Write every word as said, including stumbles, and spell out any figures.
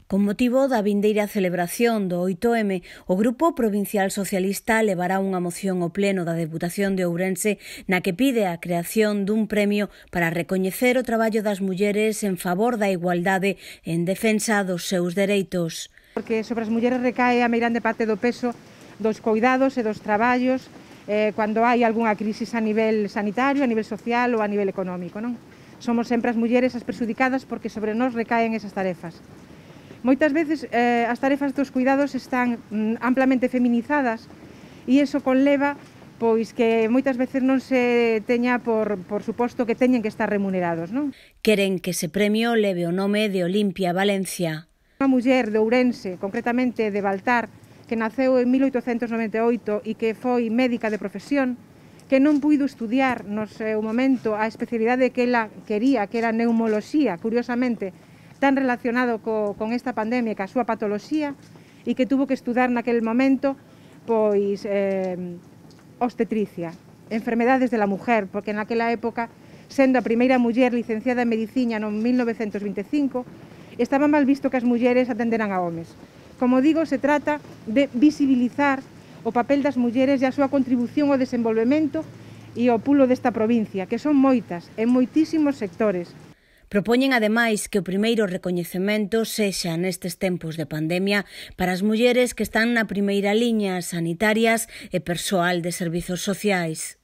Con motivo da vindeira celebración do oito eme, o Grupo Provincial Socialista levará unha moción ao Pleno da Deputación de Ourense na que pide a creación dun premio para recoñecer o traballo das mulleres en favor da igualdade en defensa dos seus dereitos. Porque sobre as mulleres recae a meirande parte do peso dos coidados e dos traballos eh, cando hai algunha crisis a nivel sanitario, a nivel social ou a nivel económico, non? Somos sempre as mulleres as perxudicadas porque sobre nós recaen esas tarefas. Moitas veces eh, as tarefas dos cuidados están mm, amplamente feminizadas e iso conleva pois que moitas veces non se teña por, por suposto que teñen que estar remunerados, non? Queren que ese premio leve o nome de Olimpia Valencia. Unha muller de Ourense, concretamente de Baltar, que naceu en mil oitocentos noventa e oito e que foi médica de profesión, que non puido estudiar no seu momento a especialidade que ela quería, que era neumoloxía, curiosamente, tan relacionado co, con esta pandemia, ca súa patoloxía, e que tuvo que estudar naquel momento pois eh, obstetricia, enfermedades de la mujer, porque naquela época, sendo a primeira muller licenciada en medicina no mil novecentos vinte e cinco, estaba mal visto que as mulleres atenderan a homes. Como digo, se trata de visibilizar o papel das mulleres e a súa contribución ao desenvolvemento e ao pulo desta provincia, que son moitas, en moitísimos sectores. Propoñen, ademais, que o primeiro recoñecemento sexa nestes tempos de pandemia para as mulleres que están na primeira liña, sanitarias e persoal de servizos sociais.